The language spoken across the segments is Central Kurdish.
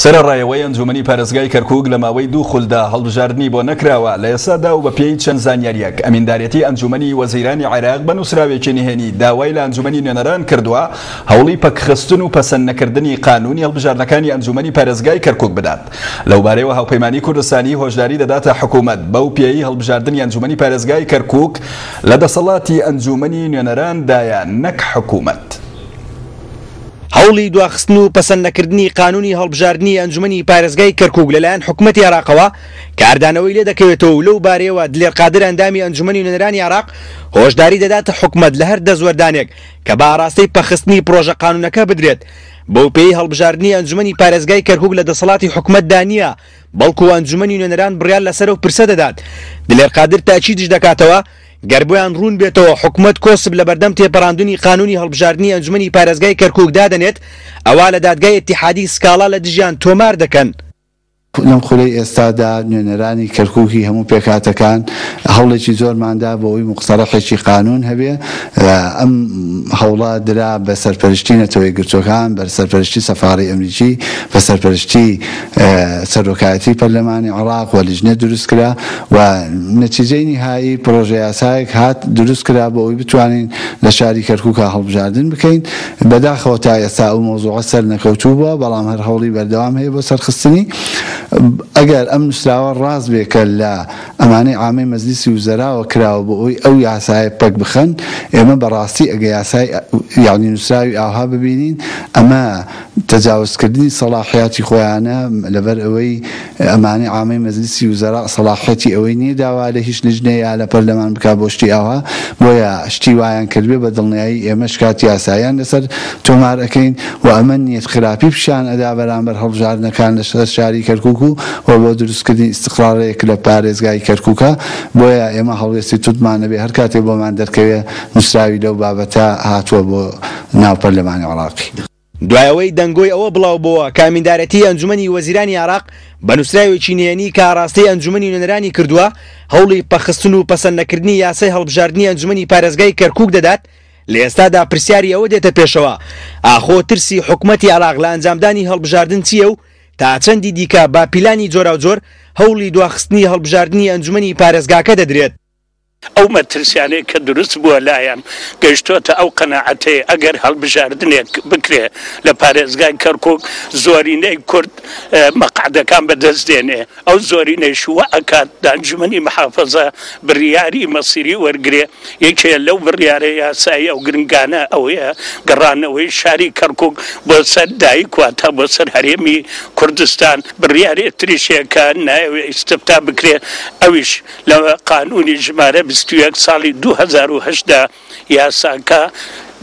سەرەڕای ئەوەی ئەنجومەنی پارێزگای کەرکوک لە ماوەی دوو خولدا هەڵبژاردنی بۆ نەکراوە، لە ئێستادا و بەپێی چەند زانیارییەک ئەمیندارێتی ئەنجومەنی وەزیرانی عێراق بە نووسراوێکی نهێنی داوای لە ئەنجومەنی نوێنەران کردووە هەوڵی پەکخستن و پەسەند نەکردنی قانونی هەڵبژاردنەکانی ئەنجومەنی پارێزگای کەرکوک بدات. لەوبارەیەوە هاوپەیمانی کوردستانی هۆشداری دەداتە حکومەت بەو پێیەی هەڵبژاردنی ئەنجومەنی پارێزگای کەرکوک لە دەسەڵاتی ئەنجومەنی نوێنەراندایە نەک حکومەت. هەوڵی دواخستن و پەسەند نەکردنی قانونی هەڵبژاردنی ئەنجومەنی پارێزگای کەرکوک لەلایەن حکومەتی عێراقەوە کاردانەوەی لێدەکەوێتەوە و لەو بارەیەوە دلێر قادر ئەندامی ئەنجومەنی نوێنەرانی عێراق هۆشداری دەداتە حکومەت لە هەر دەستوەردانێک کە بە ئاراستەی پەکخستنی پرۆژە قانونەکە بدرێت بەوپێیەی هەڵبژاردنی ئەنجومەنی پارێزگای کەرکوک لە دەسەڵاتی حکومەتدا نییە بەڵکو ئەنجومەنی نوێنەران بڕیار لەسەر ئەو پرسە دەدات. دلێر قادر تاکیدیش دەکاتەوە، گەر بۆیان ڕوون بێتەوە حکومەت کۆسپ لەبەردەم تێپەڕاندنی قانونی هەڵبژاردنی ئەنجومەنی پارێزگای کەرکوک دادەنێت، ئەوا لە دادگای ئیتیحادی سکاڵا لە دژیان تۆمار دەکەن. لەم خولەی ئێستادا نوێنەرانی کەرکوکی هەموو پێکهاتەکان هەوڵێکی زۆرمان دا بۆ ئەوەی موقتەرەحێکی قانون هەبێ، ئەم هەوڵە درا بە سەرپەرشتی نەتەوە یەکگرتووەکان، بە سەرپەرشتی سەفاڕی ئەمریکی، بە سەرپەرشتی سەرۆکایەتی پەرلەمانی عێڕاق و لیژنە دروست کرا و نەتیجەی نیهایی پڕۆژە یاسایەک هات دروست کرا بۆ ئەوەی بتوانین لە شاری کەرکوکا هەڵبژاردن بکەین. بەداخەوە تا ئێستا ئەو مەوزوعە سەرنەکەوتوو بووە، بەڵام هەر هەوڵی بەردەوام هەیە بۆ سەرخستنی. ئەگەر ئەم نووسراوە ڕاست بێ کە لە ئەمانەی عامەی مەجلیسی وزەراوە کراوە بۆ ئەوەی ئەو یاسایە پەک بخەن، ئێمە بە ڕاستی ئەگە یاسای یانی نووسراوی ئاوها ببینین ئەمە تەجاوزکردنی سەڵاحیاتی خۆیانە، لەبەر ئەوەی ئەمانەی عامەی مەجلیسی وزەراء سەڵاحیەتی ئەوەی نیە داوا لە هیچ لیژنەیە یا لە پەرلەمان بکا بۆ شتی ئاوها، بۆیە شتی وایان کردبێ بە دڵنیایی ئێمە شکاتی یاساییان لەسەر تۆمار ئەکەین و ئەمە نیەت خراپی پیشان ئەدا بەرامبەر هەڵبژاردنەکان لە سەر شاری کەرکوک و و بۆ دروستکردنی ئیستقرارێک لە پارێزگای کەرکوکا، بۆیە ئێمە هەڵوێستی توندمان ئەبێ هەر کاتێک بۆمان دەرکەوێ نوسراوی لەو بابەتە هاتووە بۆ ناو پەرلەمانی عێڕاقی. دوای ئەوەی دەنگۆی ئەوە بڵاوبۆوە کە ئەمیندارێتیی ئەنجومەنی وەزیرانی عێراق بە نووسراوێکی نهێنی کە ئاراستەی ئەنجومەنی نوێنەرانی کردووە هەوڵی پەکخستن و پەسەندنەکردنی یاسای هەڵبژاردنی ئەنجومەنی پارێزگای کەرکوک دەدات، لە ئێستادا پرسیاری ئەوە دێتە پێشەوە ئاخۆ ترسی حکومەتی عێراق لە ئەنجامدانی هەڵبژاردن چییە و تا چەندی دیکە بە پیلانی جۆراوجۆر هەوڵی دواخستنی هەڵبژاردنی ئەنجومەنی پارێزگاکە دەدرێت؟ ئەو مەترسیانەی کە دروست بووە لایان گەیشتۆتە ئەو قەناعەتەی ئەگەر هەڵبژاردنێک بکرێ لە پارێزگای کەرکوک زۆرینەی کورد مەقعدەکان بەدەست دێنێ ئەو زۆرینەیش وا ئەکات ئەنجومەنی محافەزە بریاری مەسیری وەرگرێ یەکێ لەو بڕیارە یاساییە و گرنگانە ئەوەیە گەڕانەوەی شاری کەرکوک بۆ سەر دایک واتە بۆ سەر هەرێمی کوردستان بڕیارێ تریش هەیە کە نایەوێ ئیستفتا بکرێ ئەویش لە قانوونی ژمارە 21 ساڵی 2008 دا یاساکە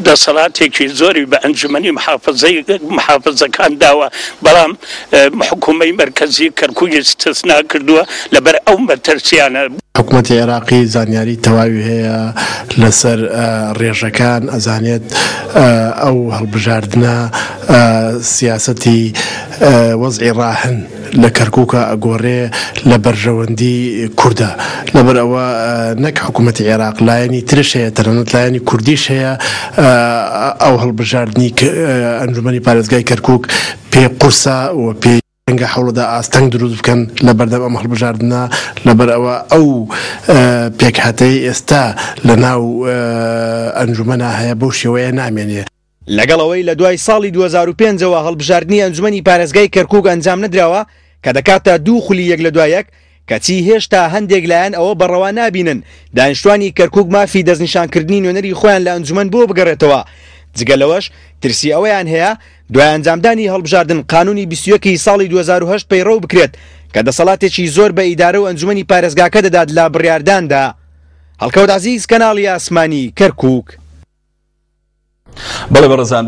دەسەڵاتێکی زۆری بە ئەنجومەنی محافزەی محافزەکان داوە، بەڵام حکوومەی مەرکەزی کەرکووکی ئیستسنا کردووە لەبەر ئەو مەترسیانە. حکومەتی عێراقی زانیاری تەواوی هەیە لەسەر ڕێژەکان، ئەزانێت ئەو هەڵبژاردنە سیاسەتی وەزعی ڕاهن لە کەرکوکا ئەگۆرێ لە بەرژەوەندی کوردە لەبەر ئەوە نەک حکومەتی عێراق لایەنی ترش هەیە تەنانەت لایەنی کوردیش هەیە ئەو هەڵبژاردنی ئەنجومەنی پارێزگای کەرکوک پێ قورسە و پێ ڕەنگە هەوڵدا ئاستەنگ دروست بکەن لە بەردەم ئەم هەڵبژاردنە لەبەر ئەوە ئەو پێکهاتەی ئێستا لە ناو ئەنجومەنا هەیە بەو شێوەیە نامێنێ. لەگەڵ ئەوەی لە دوای ساڵی 2005 ەوە هەڵبژاردنی ئەنجومەنی پارێزگای کەرکوک ئەنجام نەدراوە کە دەکاتە دوو خولی یەک لە دوای یەک، کەچی هێشتا هەندێک لایەن ئەوە بە ڕەوا نابینن دانیشتوانی کەرکوک مافی دەستنیشانکردنی نوێنەری خۆیان لە ئەنجومەن بۆ بگەڕێتەوە، جگە لەوەش ترسی ئەوەیان هەیە دوای ئەنجامدانی هەڵبژاردن قانونی 21 ی ساڵی 2008 پەیڕەو بکرێت کە دەسەڵاتێکی زۆر بە ئیدارە و ئەنجومەنی پارێزگاکە دەدات لە بڕیارداندا. هەڵکەوت عەزیز، کەناڵی ئاسمانی، کەرکوک. بەڵێ بەڕێزان.